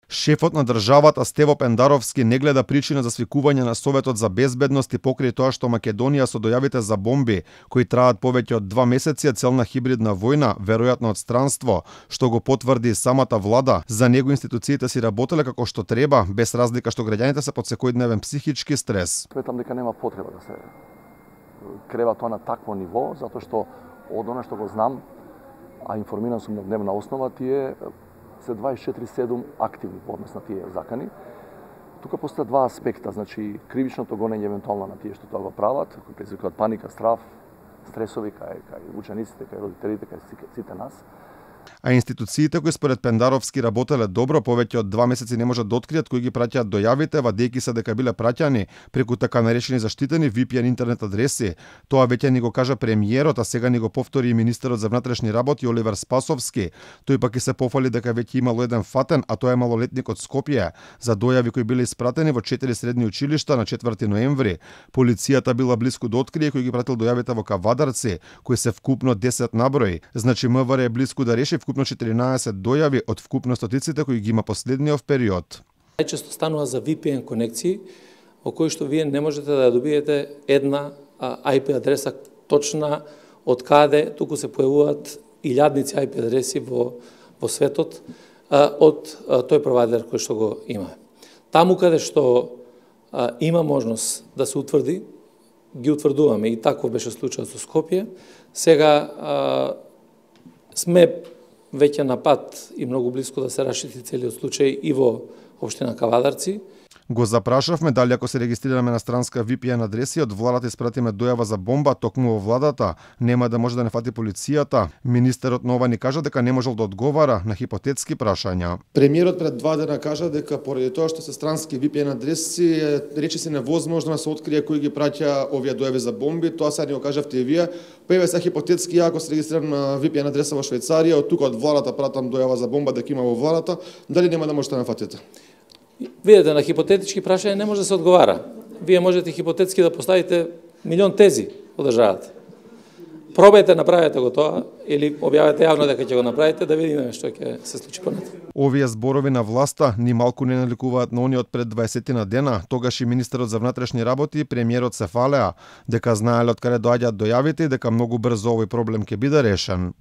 Шефот на државата Стево Пендаровски не гледа причина за свикување на Советот за безбедност и покрај тоа што Македонија со дојавите за бомби, кои траат повеќе од 2 месеци, целна хибридна војна, веројатно од странство, што го потврди самата влада, за него институциите си работеле како што треба, без разлика што граѓаните се под секојдневен психички стрес. Сметам дека нема потреба да се крева тоа на такво ниво, затоа што од она што го знам, а информиран сум на дневна основа, тие се 24/7 активни во однос на тие закани. Тука постојат два аспекта, значи кривичното гонење евентуално на тие што тоа го прават, кои предизвикуваат паника, страв, стресови кај учениците, кај родителите, кај сите нас. А институциите кои според Пендаровски работеле добро, повеќе од 2 месеци не можат да откријат кои ги праќаат дојавите, вадејќи се дека биле праќани преку така наречени заштитени VPN интернет адреси. Тоа веќе ни го кажа премиерот, а сега ни го повтори и министерот за внатрешни работи Оливер Спасовски. Тој пак и се пофали дека веќе имало еден фатен, а тоа е малолетник од Скопје, за дојави кои биле испратени во 4 средни училишта на 4 ноември. Полицијата била блиску да открие кој ги пратил дојавите во Кавадарци, кои се вкупно 10 наброј. Значи МВР е блиску да реши вкупно 14 дојави од вкупно стотиците кои ги има последниот период. Најчесто станува за VPN конекции, во кои што вие не можете да добиете една IP адреса точна од каде, туку се појавуваат илјадници IP адреси во светот од тој провайдер кој што го има. Таму каде што има можност да се утврди, ги утврдуваме, и таков беше случајот со Скопје. Сега сме веќе на пат и многу близко да се расшити целиот случај и во општина Кавадарци. Го запрашавме дали ако се регистрираме на странска VPN адреси од владата испратиме дојава за бомба токму во владата, нема да може да не фати полицијата. Министерот нова ни кажа дека не можел да одговара на хипотетски прашања. Премиерот пред 2 дена кажа дека поради тоа што се странски VPN адреси, рече се невозможно да се открие кој ги праќа овие дојави за бомби. Тоа сега ни го кажавте и вие. Па еве се хипотетски, ако се регистрирам на VPN адреса во Швајцарија, од тука од владата пратам дојава за бомба дека има во владата, дали нема да можете да нафатите? Видете, на хипотетички прашања не може да се одговара. Вие можете хипотетски да поставите милион тези во државата. Пробајте, направете го тоа, или објавете јавно дека ќе го направите, да видиме што ќе се случи понатаму. Овие зборови на власта ни малку не наликуваат на они од пред 20 на дена. Тогаш и министерот за внатрешни работи и премиерот се фалеа дека знаеле од каде доаѓаат дојавите и дека многу брзо овој проблем ќе биде решен.